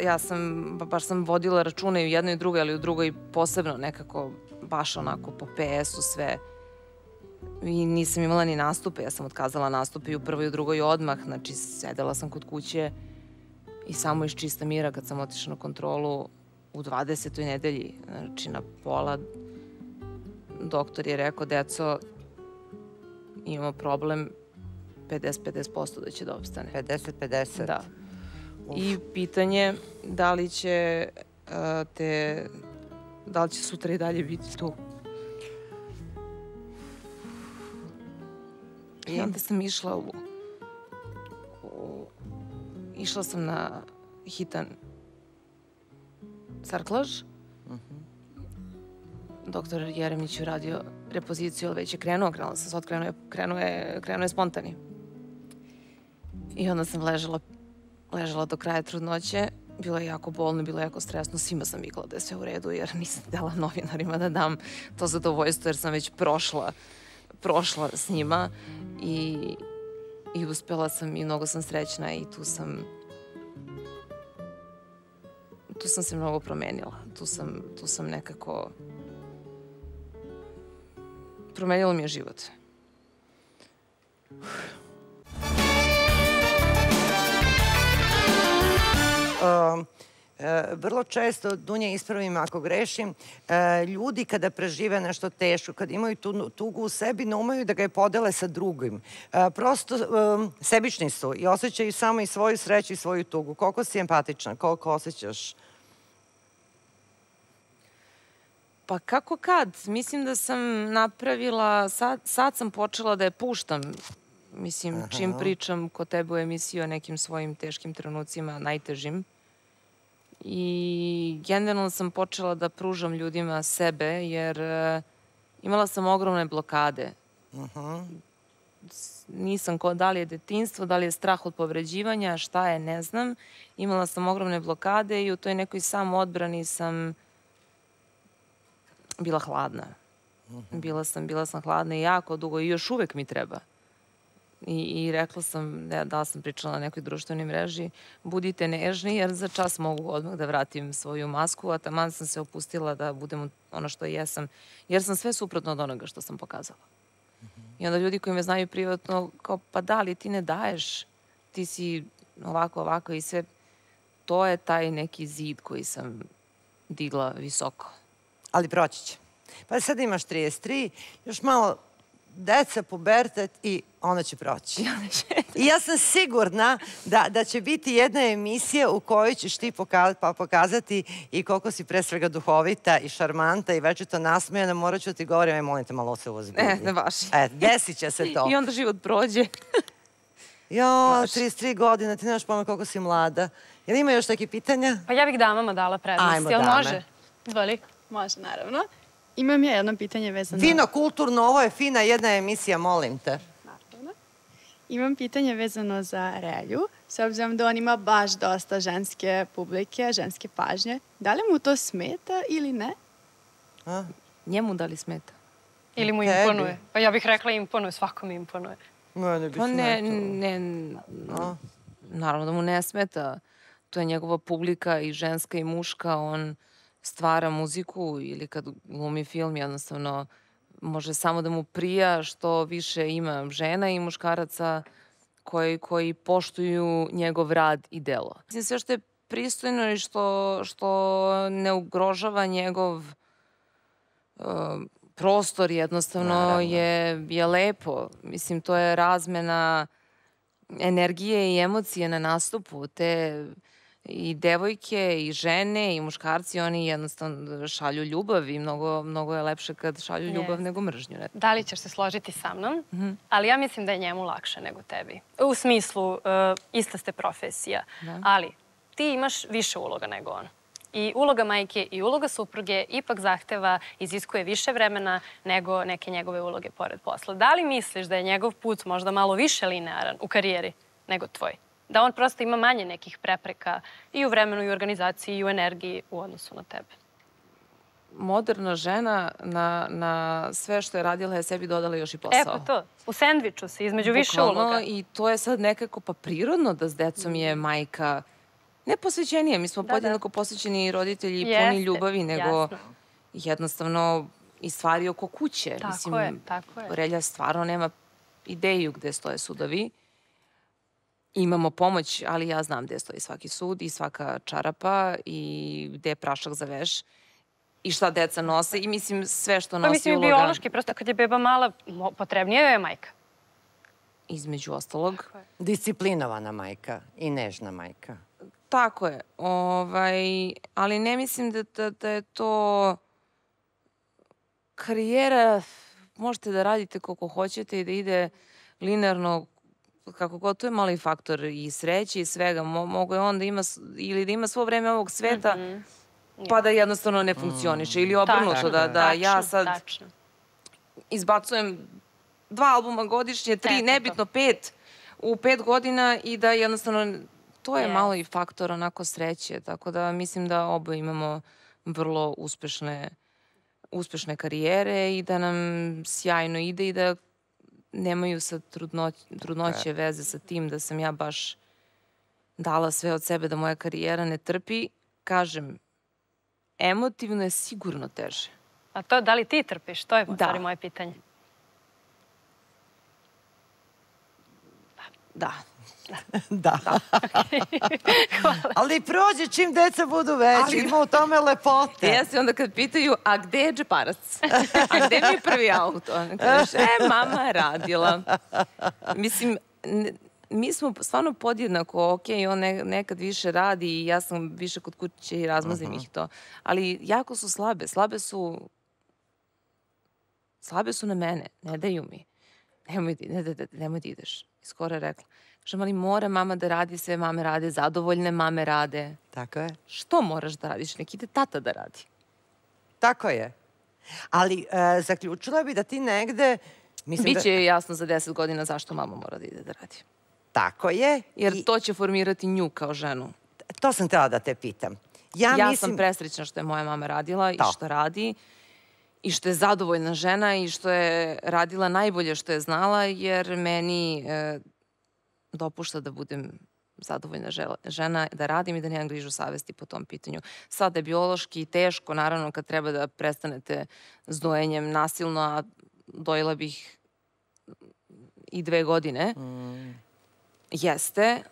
ja sam, baš sam vodila računa i u jednoj i drugoj, ali u drugoj posebno nekako, baš onako po P S-u sve. I nisam imala ni nastupe, ja sam otkazala nastupe i u prvoj i u drugoj odmah, znači sedela sam kod kuće i samo iz čista mira kad sam otišla na kontrolu u dvadesetoj nedelji, znači na pola, doktor je rekao, deco, imamo problem, pedeset pedeset posto da će da opstane. pedeset pedeset? Da. I pitanje da li će te, da li će sutra i dalje biti tu. I onda sam išla u, išla sam na hitan sarklaž. Doktor Jeremić uradio repoziciju, ali već je krenuo, krenuo sam sad, krenuo je, krenuo je, krenuo je spontani. I onda sam ležala, ležala do kraja trudnoće, bilo je jako bolno, bilo je jako stresno, svima sam vikla da je sve u redu, jer nisam htjela novinarima da dam to zadovoljstvo, jer sam već prošla, prošla s njima i, i uspjela sam i mnogo sam srećna i tu sam tu sam se mnogo promenila. Tu sam, tu sam nekako... Promenilo mi je život. Um, e, vrlo često, Dunja, ispravim ako grešim, e, ljudi kada prežive nešto teško, kada imaju tu, tugu u sebi, ne umeju da ga je podele sa drugim. E, prosto um, sebični su i osjećaju samo i svoju sreću i svoju tugu. Koliko si empatična, koliko osjećaš? Pa kako kad? Mislim da sam napravila, sad, sad sam počela da je puštam. Mislim, Aha. čim pričam kod tebe u emisiji o nekim svojim teškim trenucima, najtežim. I generalno sam počela da pružam ljudima sebe, jer uh, imala sam ogromne blokade. Aha. Nisam ko, da li je detinjstvo, da li je strah od povređivanja, šta je, ne znam. Imala sam ogromne blokade i u toj nekoj samoodbrani sam bila hladna. Bila sam, bila sam hladna i jako dugo i još uvek mi treba. I, i rekla sam, da, da sam pričala na nekoj društvenoj mreži, budite nežni jer za čas mogu odmah da vratim svoju masku, a taman sam se opustila da budem ono što jesam, jer sam sve suprotno od onoga što sam pokazala. I onda ljudi koji me znaju privatno, kao pa da, ali ti ne daješ, ti si ovako, ovako i sve. To je taj neki zid koji sam digla visoko. Ali proći će. Pa sad imaš trideset tri, još malo deca, pubertet i ona će proći. I ja sam sigurna da, da će biti jedna emisija u kojoj ćeš ti poka pa pokazati i koliko si pre svega duhovita i šarmanta i večito nasmejana. Morat ću ti govorim, aj molim te malo se ozbilji. Ne, ne baš. E, desit će se to. I onda život prođe. Jo, trideset tri godina, ti nemaš pojma koliko si mlada. Jel ima još neki pitanja? Pa ja bih damama dala prednost. Ajmo, Jel dame. može? Izvoli. Može, naravno. Imam ja jedno pitanje vezano... Fino, kulturno, ovo je fina jedna emisija, molim te. Naravno. Imam pitanje vezano za Relju. S obzirom da on ima baš dosta ženske publike, ženske pažnje. Da li mu to smeta ili ne? A? Njemu da li smeta? Ili mu Tebi. imponuje? Pa ja bih rekla imponuje, svakom imponuje. Mene bi Pa ne, smetalo. ne, naravno da mu ne smeta. To je njegova publika i ženska i muška, on stvara muziku ili kad glumi film, jednostavno može samo da mu prija što više ima žena i muškaraca koji, koji poštuju njegov rad i delo. Mislim, sve što je pristojno i što, što ne ugrožava njegov uh, prostor jednostavno je, je lepo. Mislim, to je razmena energije i emocije na nastupu. Te i devojke, i žene, i muškarci, oni jednostavno šalju ljubav i mnogo, mnogo je lepše kad šalju ljubav Yes. nego mržnju. Da li ćeš se složiti sa mnom? Ali ja mislim da je njemu lakše nego tebi. U smislu, uh, ista ste profesija. Ali ti imaš više uloga nego on. I uloga majke i uloga supruge ipak zahteva, iziskuje više vremena nego neke njegove uloge pored posla. Da li misliš da je njegov put možda malo više linearan u karijeri nego tvoj? Da on prosto ima manje nekih prepreka i u vremenu, i u organizaciji, i u energiji u odnosu na tebe? Moderna žena na, na sve što je radila je sebi dodala još i posao. E pa to, u sendviču si između više Bukvalno, uloga. I to je sad nekako pa prirodno da s decom je majka ne posvećenije. Mi smo Da, podjednako posvećeni roditelji i Jeste, puni ljubavi, nego jasno. jednostavno i stvari oko kuće. Tako Mislim, je, tako je. Relja stvarno nema ideju gde stoje sudovi. Imamo pomoć, ali ja znam gde stoji svaki sud i svaka čarapa i gde je prašak za veš i šta deca nose i mislim sve što Pa nosi mislim i uloga. biološki, prosto kad je beba mala, mo- potrebnije joj je majka. Između ostalog. Disciplinovana majka i nežna majka. Tako je. Ovaj, ali ne mislim da, da, da je to karijera, možete da radite koliko hoćete i da ide linearno kako god, to je mali faktor i sreće i svega. Mo, mogu je on da ima, s- ili da ima svo vreme ovog sveta, pa da jednostavno ne funkcioniše. Ili obrnuto, Tačno, da, da ja tačno, sad tačno. izbacujem dva albuma godišnje, tri, Eto to. nebitno, pet u pet godina i da jednostavno to je Yes. malo i faktor onako sreće. Tako da mislim da oboje imamo vrlo uspešne uspešne karijere i da nam sjajno ide i da nemaju sad trudno, trudnoće veze sa tim da sam ja baš dala sve od sebe da moja karijera ne trpi. Kažem, emotivno je sigurno teže. A to, da li ti trpiš? To je u Da. stvari moje pitanje. Da. Da. Ali prođe čim deca budu veći, Ali- ima u tome lepote. Jeste, onda kad pitaju, a gde je džeparac? A gde mi je prvi auto? Kažeš, e, mama je radila. Mislim, ne- mi smo stvarno podjednako, ok, on ne- nekad više radi i ja sam više kod kuće i razmazim ih to. Ali jako su slabe. Slabe su... Slabe su na mene. Ne daju mi. Nemoj, ti- ne, ne, ne, nemoj da ideš. I skoro je rekla. Kažem, ali mora mama da radi, sve mame rade, zadovoljne mame rade. Tako je. Što moraš da radiš? Nek ide tata da radi. Tako je. Ali e, zaključila bi da ti negde... Mislim da, Biće jasno za deset godina zašto mama mora da ide da radi. tako je. Jer I to će formirati nju kao ženu. to sam htjela da te pitam. Ja, Ja mislim... sam presrećna što je moja mama radila i To. što radi i što je zadovoljna žena i što je radila najbolje što je znala, jer meni e, dopušta da budem zadovoljna žela- žena, da radim i da nemam grižu savesti po tom pitanju. Sada je biološki teško, naravno, kad treba da prestanete s dojenjem nasilno, a dojela bih i dve godine. Jeste,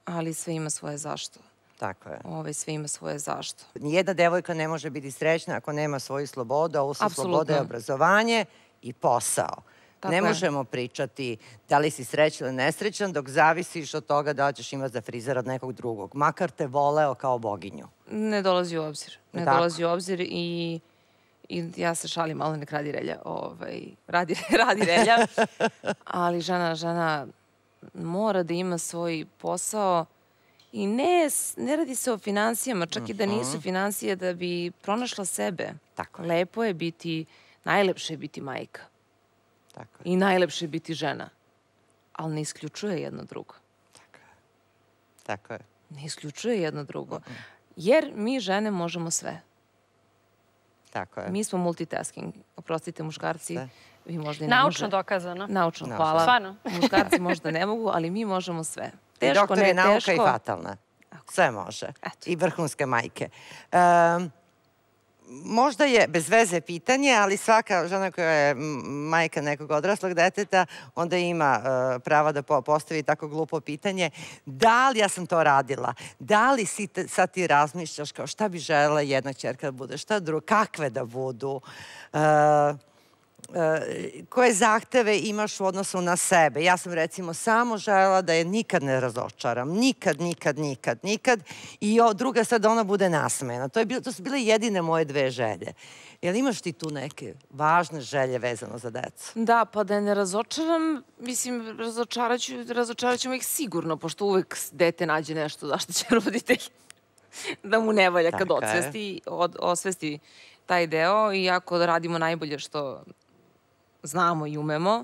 ali sve ima svoje zašto. Tako je. Ove, sve ima svoje zašto. Nijedna devojka ne može biti srećna ako nema svoju slobodu, a ovo su Apsolutno. sloboda i obrazovanje i posao. Tako ne je. možemo pričati da li si srećan ili nesrećan dok zavisiš od toga da li ćeš imati za frizer od nekog drugog. Makar te voleo kao boginju. Ne dolazi u obzir. Ne Tako. dolazi u obzir i, i ja se šalim, malo nek radi relja. Ovaj, radi, radi relja. Ali žena, žena mora da ima svoj posao i ne, s- ne radi se o financijama, čak i da nisu financije, da bi pronašla sebe. Tako je. Lepo je biti, najlepše je biti majka. Tako je. I najlepše je biti žena. Ali ne isključuje jedno drugo. Tako je. Ne isključuje jedno drugo. Jer mi žene možemo sve. Tako je. Mi smo multitasking. Oprostite, muškarci, Sve. vi možda i ne Naučno može- dokazano. Naučno, Naučno. hvala. Stvarno. Muškarci možda ne mogu, ali mi možemo sve. I Teško, doktor ne je nauka teško. i fatalna. Sve može. Eto. I vrhunske majke. Um, možda je bez veze pitanje, ali svaka žena koja je m, majka nekog odraslog deteta, onda ima uh, prava da po- postavi tako glupo pitanje. Da li ja sam to radila? Da li si te, sad ti razmišljaš kao šta bi želela jedna ćerka da bude, šta drugo, kakve da budu? Uh, e, koje zahteve imaš u odnosu na sebe. Ja sam recimo samo želela da je nikad ne razočaram. Nikad, nikad, nikad, nikad. I o, druga sad da ona bude nasmejana. To, je bilo, to su bile jedine moje dve želje. Jel imaš ti tu neke važne želje vezano za decu? Da, pa da je ne razočaram, mislim, razočarat, ću, razočarat ćemo ih sigurno, pošto uvek dete nađe nešto zašto će roditelj da mu ne valja kad Tako je. odsvesti, od, osvesti taj deo i ako da radimo najbolje što znamo i umemo.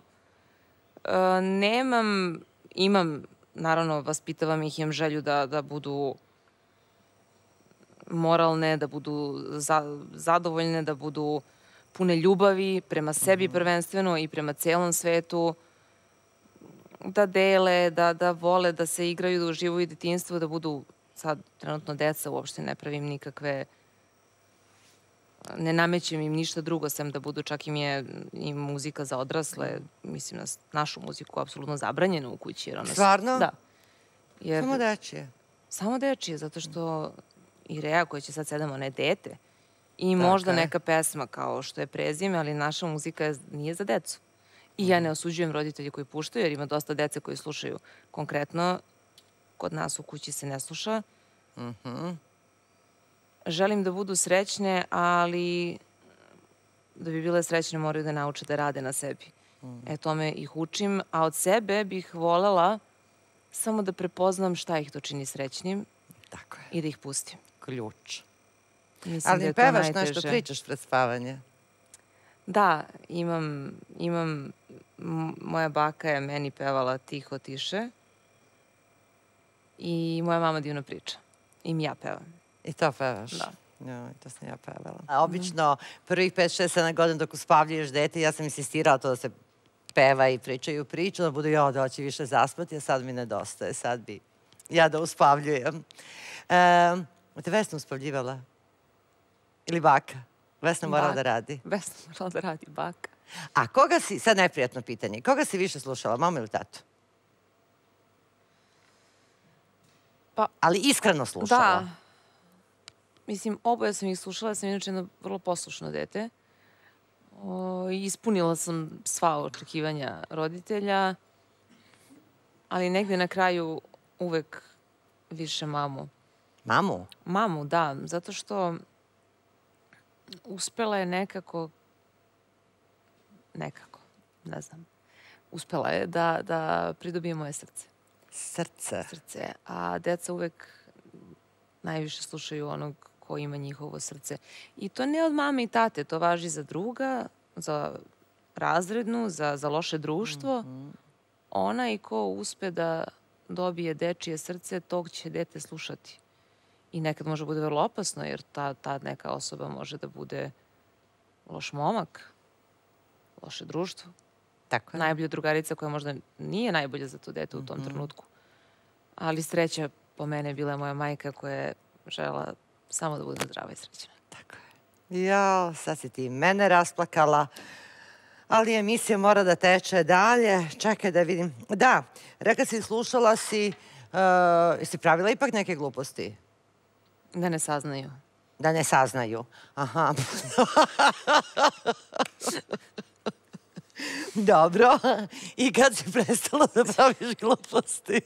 E, nemam, imam, naravno, vaspitavam ih, imam želju da, da budu moralne, da budu za, zadovoljne, da budu pune ljubavi prema sebi prvenstveno i prema celom svetu, da dele, da, da vole, da se igraju, da uživaju detinjstvo, da budu sad trenutno deca, uopšte ne pravim nikakve, ne namećem im ništa drugo, sem da budu, čak im je i muzika za odrasle, mislim na s- našu muziku, apsolutno zabranjena u kući. Jer ona s- Stvarno? Da. Jer, Samo dečije. Samo dečije, zato što i Rea koja će sad sedam, ona je dete. I Tako možda je. neka pesma kao što je Prezime, ali naša muzika je- nije za decu. I ja ne osuđujem roditelje koji puštaju, jer ima dosta dece koji slušaju. Konkretno, kod nas u kući se ne sluša. Želim da budu srećne, ali da bi bile srećne moraju da nauče da rade na sebi. E, tome ih učim, a od sebe bih volela samo da prepoznam šta ih to čini srećnim Tako je. i da ih pustim. Ključ. Mislim da Ali je to pevaš najteže. nešto, pričaš pred spavanje. Da, imam, imam, moja baka je meni pevala Tiho tiše i moja mama divno priča. I ja pevam. I to pevaš? Da. Joj, to sam ja pevala. A obično, prvih pet, šest, sedam godina dok uspavljuješ dete, ja sam insistirala to da se peva i pričaju priču, da budu ja doći više zaspati, a sad mi nedostaje, sad bi ja da uspavljujem. E, te Vesna uspavljivala? Ili baka? Vesna morala da radi? Vesna morala da radi, baka. A koga si, sad neprijatno pitanje, koga si više slušala, mama ili tatu? Pa, ali iskreno slušala? Da. Mislim, oboje sam ih slušala, sam inače jedno vrlo poslušno dete. O, ispunila sam sva očekivanja roditelja, ali negde na kraju uvek više mamu. Mamu? Mamu, da, zato što uspela je nekako, nekako, ne znam, uspela je da, da pridobije moje srce. Srce? Srce, a deca uvek najviše slušaju onog ko ima njihovo srce. I to ne od mame i tate, to važi za druga, za razrednu, za, za loše društvo. Mm-hmm. Onaj ko uspe da dobije dečije srce, tog će dete slušati. I nekad može bude vrlo opasno, jer ta, ta neka osoba može da bude loš momak, loše društvo. Tako je. Najbolja drugarica koja možda nije najbolja za to dete u tom mm-hmm. trenutku. Ali sreća po mene bila je moja majka koja je žela samo da bude zdrava i srećna. Tako je. Jao, sad si ti mene rasplakala, ali emisija mora da teče dalje. Čekaj da vidim. Da, rekla si, slušala si, uh, jesi pravila ipak neke gluposti? Da ne saznaju. Da ne saznaju. Aha. Dobro. I kad si prestala da praviš gluposti?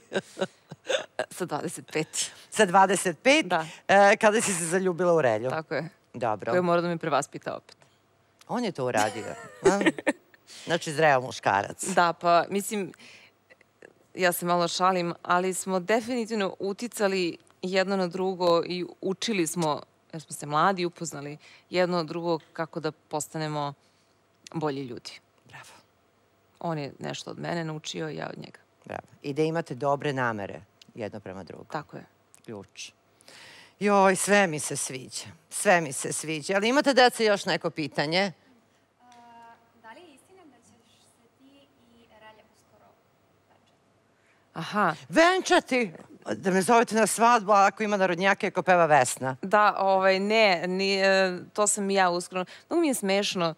Sa dvadeset pet. Sa dvadeset pet? Da. E, kada si se zaljubila u Relju? Tako je. Dobro. Koja mora da me prevaspita opet. On je to uradio. A? Znači, zreo muškarac. Da, pa mislim, ja se malo šalim, ali smo definitivno uticali jedno na drugo i učili smo, jer smo se mladi upoznali, jedno od drugog kako da postanemo bolji ljudi. Bravo. On je nešto od mene naučio, ja od njega. Bravo. I da imate dobre namere jedno prema drugom. Tako je. Ključ. Joj, sve mi se sviđa. Sve mi se sviđa. Ali imate, deca, još neko pitanje? A, da li je istina da ćeš se ti i Relja uskoro venčati? Aha. Venčati? Da me zovete na svadbu, ako ima narodnjake, ako peva Vesna. Da, ovaj, ne, ni, to sam i ja uskoro. Mnogo mi je smešno.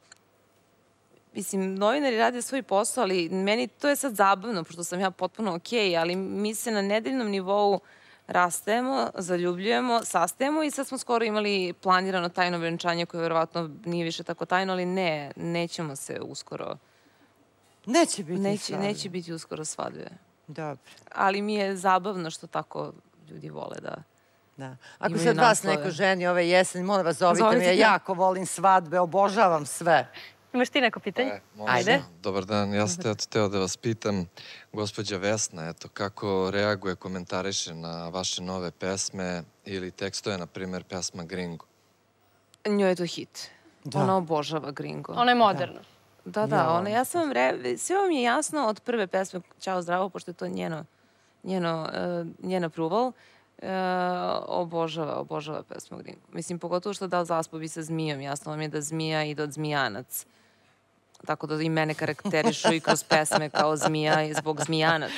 Mislim, novinari rade svoj posao, ali meni to je sad zabavno, pošto sam ja potpuno okej, ali mi se na nedeljnom nivou rastajemo, zaljubljujemo, sastajemo i sad smo skoro imali planirano tajno venčanje koje verovatno nije više tako tajno, ali ne, nećemo se uskoro... Neće biti neće, svadbe. Neće biti uskoro svadbe. Dobro. Ali mi je zabavno što tako ljudi vole da... Da. Ako se od vas neko ženi ove jesen, molim vas, zovite me, ja jako volim svadbe, obožavam sve. Imaš ti neko pitanje? E, Ajde. Dobar dan, ja sam hteo da vas pitam, gospođa Vesna, eto, kako reaguje, komentariše na vaše nove pesme ili tekstove, na primjer, pesma Gringo? Njoj je to hit. Da. Ona obožava Gringo. Ona je moderna. Da, da, ona, ja sam vam re... Sve vam je jasno od prve pesme Ćao zdravo, pošto je to njeno, njeno, uh, njena pruval. Uh, obožava, obožava pesmu Gringo. Mislim, pogotovo što da zaspobi sa zmijom. Jasno vam je da zmija ide od zmijanac. Tako da i mene karakterišu i kroz pesme kao zmija i zbog zmijanac.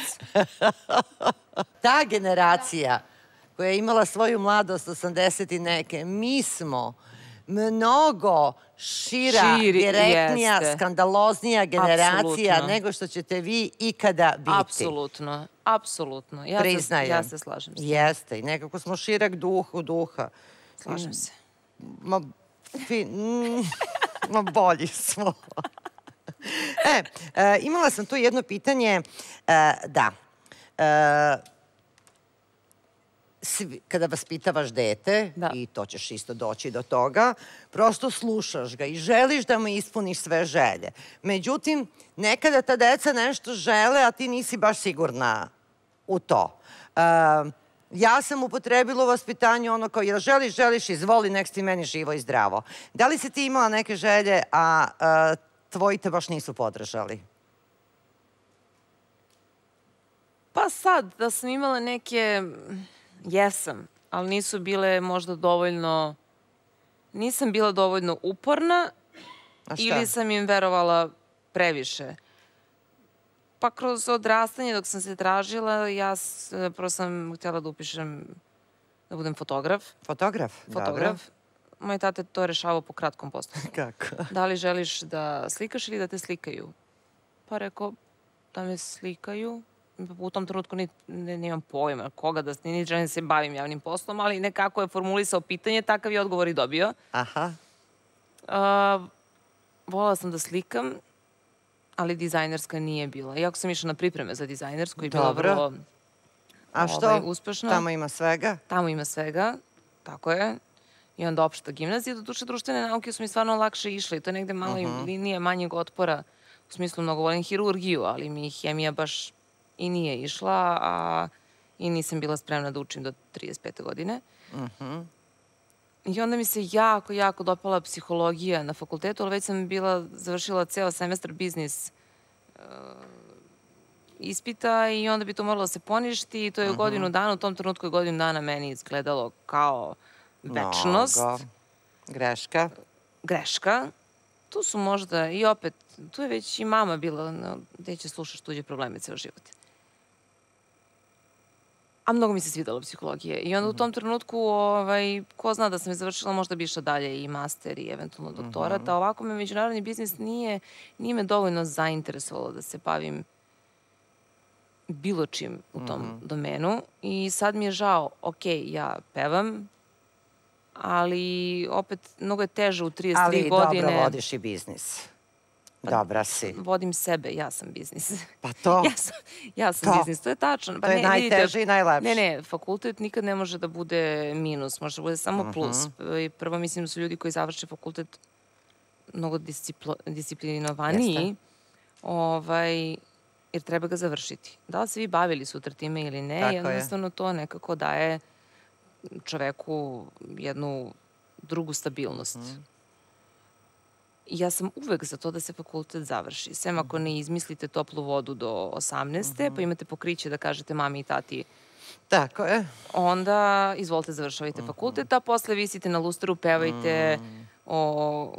Ta generacija koja je imala svoju mladost osamdeset i neke, mi smo mnogo šira, Širi, direktnija, jeste. skandaloznija generacija Apsolutno. nego što ćete vi ikada biti. Apsolutno, apsolutno. Ja Priznajem. Se, ja se slažem s tim. Jeste, i nekako smo širak duh u duha. Slažem se. Ma, fi, mm, ma bolji smo. E, e, imala sam tu jedno pitanje. E, da. E, svi, kada vaspitavaš dete, da. I to ćeš isto doći do toga, prosto slušaš ga i želiš da mu ispuniš sve želje. Međutim, nekada ta deca nešto žele, a ti nisi baš sigurna u to. E, ja sam upotrebila u vaspitanju ono kao, jel želiš, želiš, izvoli, nek ti meni živo i zdravo. Da li si ti imala neke želje, a, a tvoji te baš nisu podržali? Pa sad, da sam imala neke, jesam, ali nisu bile možda dovoljno, nisam bila dovoljno uporna ili sam im verovala previše. Pa kroz odrastanje dok sam se tražila, ja prvo sam htjela da upišem da budem fotograf. Fotograf? Fotograf. Moj tata je to rešavao po kratkom postupku. Kako? Da li želiš da slikaš ili da te slikaju? Pa rekao da me slikaju. U tom trenutku nemam pojma koga da ni želim se bavim javnim poslom, ali nekako je formulisao pitanje, takav je odgovor i dobio. Aha. Volala sam da slikam, ali dizajnerska nije bila. Iako sam išla na pripreme za dizajnersku i bila vrlo uspešna. Tamo ima svega? Tamo ima svega, tako je. I onda opšta gimnazija, do duše društvene nauke su mi stvarno lakše išle i to je negde malo linije manjeg otpora. U smislu, mnogo volim hirurgiju, ali mi hemija baš i nije išla, a i nisam bila spremna da učim do trideset pete godine. I onda mi se jako, jako dopala psihologija na fakultetu, ali već sam bila završila ceo semestar biznis ispita i onda bi to moralo da se poništi i to je u godinu dana, u tom trenutku je godinu dana meni izgledalo kao večnost. Greška. Greška. Tu su možda i opet, tu je već i mama bila, gde će slušaš tuđe probleme ceo život. A mnogo mi se svidala psihologija. I onda u tom trenutku, ko zna da sam je završila, možda bi išla dalje i master i eventualno doktorat, a ovako me međunarodni biznis nije me dovoljno zainteresovalo da se bavim bilo čim u tom domenu. I sad mi je žao, ok, ja pevam, ali opet mnogo je teže u trideset tri godine. Ali dobro vodiš i biznis. Dobra si. Vodim sebe, ja sam biznis. Pa to? Ja sam biznis, to je tačno. To je najteže i najlepše. Ne, ne, fakultet nikad ne može da bude minus, može da bude samo plus. Prvo mislim da su ljudi koji završe fakultet mnogo disciplinovaniji, jer treba ga završiti. Da li se vi bavili sutra time ili ne, jednostavno to nekako daje čoveku jednu drugu stabilnost. Ja sam uvek za to da se fakultet završi. Sem ako ne izmislite toplu vodu do osamnaeste, pa imate pokriće da kažete mami i tati. Tako je. Onda izvolite završavajte fakultet, a posle visite na lusteru, pevajte o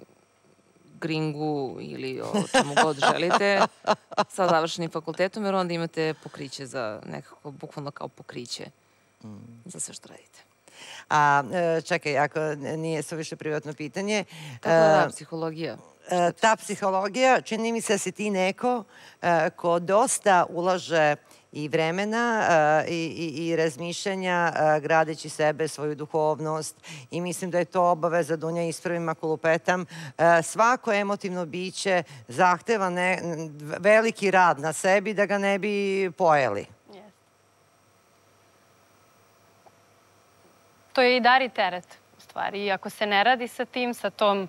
gringu ili o čemu god želite sa završenim fakultetom, jer onda imate pokriće za nekako, bukvalno kao pokriće za sve što radite. A čekaj, ako nije suviše privatno pitanje... Kako je psihologija? Ta psihologija, čini mi se da si ti neko ko dosta ulaže i vremena i razmišljanja gradeći sebe, svoju duhovnost i mislim da je to obaveza, Dunja, ispravim ako lupetam. Svako emotivno biće zahteva veliki rad na sebi da ga ne bi pojeli. To je i dar i teret, u stvari. I ako se ne radi sa tim, sa tom...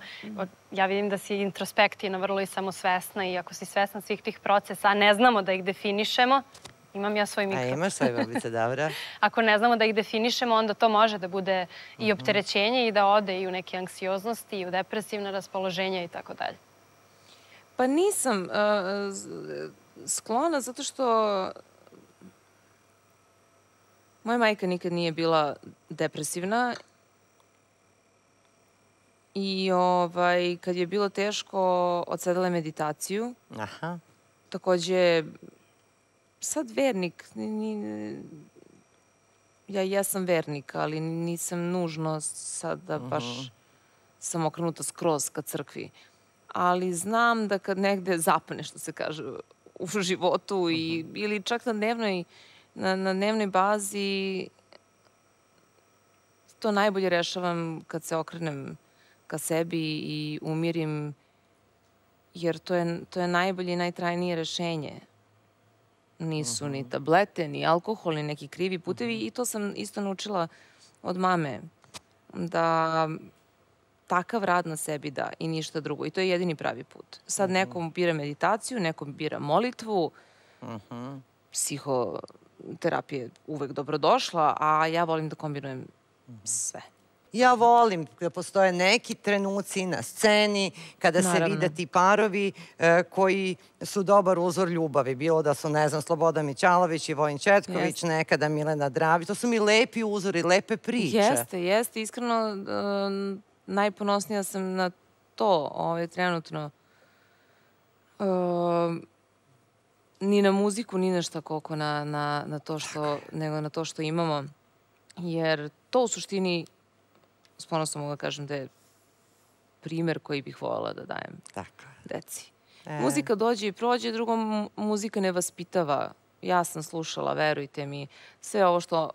Ja vidim da si introspektivna, vrlo i samosvesna i ako si svesna svih tih procesa, a ne znamo da ih definišemo, imam ja svoj mikro. A imaš svoj babice, dobro. Ako ne znamo da ih definišemo, onda to može da bude i opterećenje i da ode i u neke anksioznosti i u depresivne raspoloženja i tako dalje. Pa nisam sklona zato što... Moja majka nikad nije bila depresivna i kad je bilo teško, odsedala je meditaciju. Takođe, sad vernik, ja jesam vernik, ali nisam nužno sad da baš sam okrenuta skroz ka crkvi. Ali znam da kad negde zapane, što se kaže, u životu ili čak na dnevnoj na dnevnoj bazi to najbolje rešavam kad se okrenem ka sebi i umirim, jer to je najbolje i najtrajnije rešenje. Nisu ni tablete, ni alkohol, ni neki krivi putevi i to sam isto naučila od mame, da takav rad na sebi da i ništa drugo. I to je jedini pravi put. Sad nekom bira meditaciju, nekom bira molitvu, psiho terapija je uvek dobrodošla, a ja volim da kombinujem sve. Ja volim da postoje neki trenuci na sceni kada se vide ti parovi koji su dobar uzor ljubavi. Bilo da su, ne znam, Slobodan Mićalović i Vojin Četković, nekada Milena Dravić. To su mi lepi uzori, lepe priče. Jeste, jeste. Iskreno, najponosnija sam na to trenutno. Ni na muziku, ni nešto koliko na to što, nego na to što imamo. Jer to u suštini, s ponosom mogu da kažem da je primer koji bih voljela da dajem deci. Muzika dođe i prođe, drugo muzika ne vaspitava. Ja sam slušala, verujte mi, sve ovo što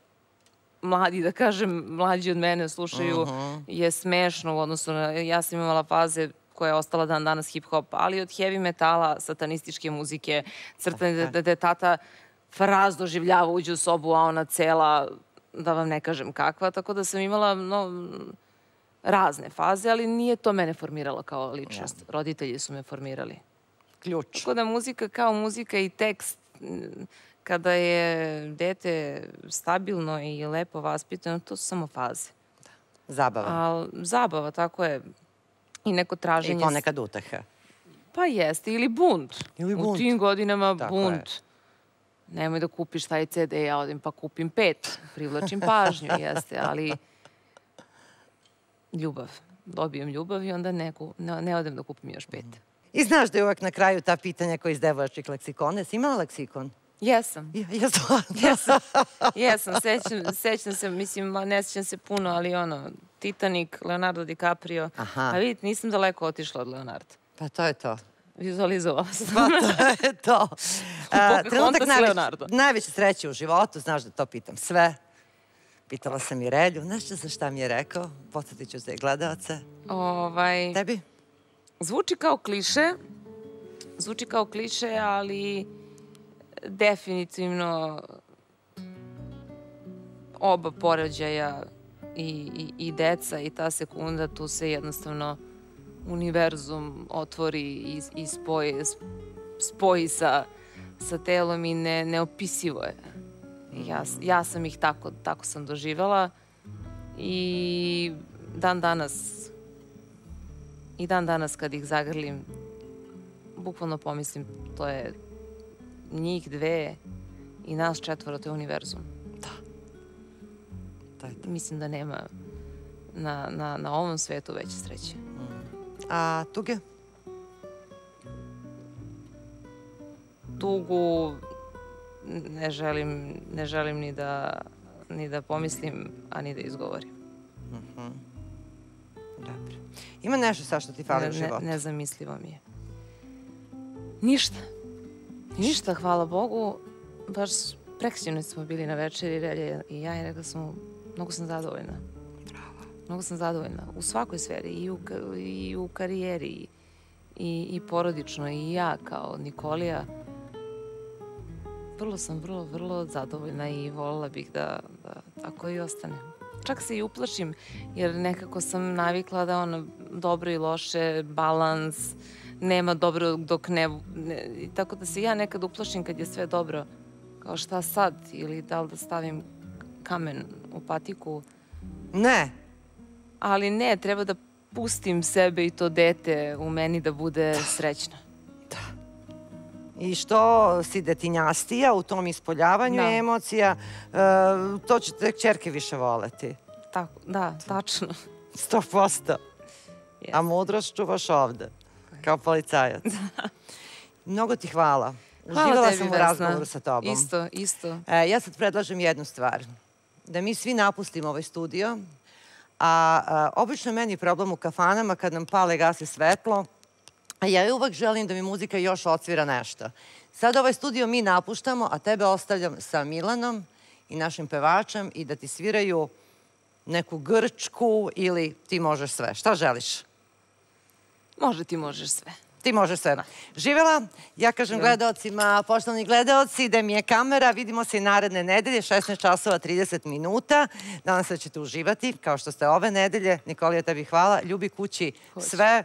mladi, da kažem, mlađi od mene slušaju je smešno u odnosu na... Ja sam imala faze koja je ostala dan danas hip-hop, ali od heavy metala, satanističke muzike, crtane da je tata fraz doživljava, uđe u sobu, a ona cela, da vam ne kažem kakva, tako da sam imala razne faze, ali nije to mene formiralo kao ličnost. Roditelji su me formirali. Ključ. Tako da muzika kao muzika i tekst, kada je dete stabilno i lepo vaspitano, to su samo faze. Zabava. Zabava, tako je. I neko traženje... I ponekad uteha. Pa jeste, ili bunt. U tim godinama bunt. Nemoj da kupiš taj ce de, ja odim pa kupim pet. Privlačim pažnju, jeste, ali ljubav. Dobijem ljubav i onda ne odem da kupim još pet. I znaš da je uvek na kraju ta pitanja koja iz devojačkih leksikona. Jesi imala leksikon? Jesam. Jesam. Jesam, sećam se, mislim, ne sećam se puno, ali ono, Titanic, Leonardo DiCaprio. A vidite, nisam daleko otišla od Leonarda. Pa to je to. Vizualizovala sam. Pa to je to. Trenutak najveće sreće u životu, znaš da to pitam sve. Pitala sam i Relju, znaš za šta mi je rekao? Podsjetit ću za gledalce. Tebi? Zvuči kao kliše, zvuči kao kliše, ali definitivno oba porođaja i deca i ta sekunda, tu se jednostavno univerzum otvori i spoji sa telom i neopisivo je. Ja sam ih tako, tako sam doživjela i dan danas, i dan danas kad ih zagrlim, bukvalno pomislim, to je njih dve i nas četvoro, to je univerzum. Da. Mislim da nema na ovom svetu veće sreće. A tuge? Tugu ne želim ni da pomislim, a ni da izgovorim. Dobro. Ima nešto sad što ti fali u životu? Nezamislivo mi je. Ništa. Ništa, hvala Bogu. Baš preksinoć smo bili na večeri, Relja i ja, i rekla sam, mnogo sam zadovoljna. Mnogo sam zadovoljna. U svakoj sferi, i u karijeri, i porodično, i ja kao Nikolija. Vrlo sam, vrlo, vrlo zadovoljna i voljela bih da tako i ostane. Čak se i uplašim, jer nekako sam navikla da ono dobro i loše, balans, nema dobro dok ne... Tako da se ja nekad uplašim kad je sve dobro. Kao šta sad? Ili da li da stavim kamen u patiku? Ne. Ali ne, treba da pustim sebe i to dete u meni da bude srećno. Da. I što si detinjastija u tom ispoljavanju emocija, to će te kćerke više voleti. Da, tačno. Sto posto. A mudrost čuvaš ovde, kao policajac. Mnogo ti hvala. Uživala sam u razgovoru sa tobom. Isto, isto. Ja sad predlažem jednu stvar. Da mi svi napustimo ovaj studio, a obično meni je problem u kafanama kad nam pale gasi svetlo, a ja uvek želim da mi muzika još odsvira nešto. Sad ovaj studio mi napuštamo, a tebe ostavljam sa Milanom i našim pevačem i da ti sviraju neku grčku ili ti možeš sve. Šta želiš? Može, ti možeš sve. Ti možeš sve. Živela, ja kažem gledalcima, poštovani gledalci, da mi je kamera, vidimo se i naredne nedelje, šesnaest časova trideset minuta. Danas se ćete uživati, kao što ste ove nedelje. Nikolija, tebi hvala. Ljubi kući sve.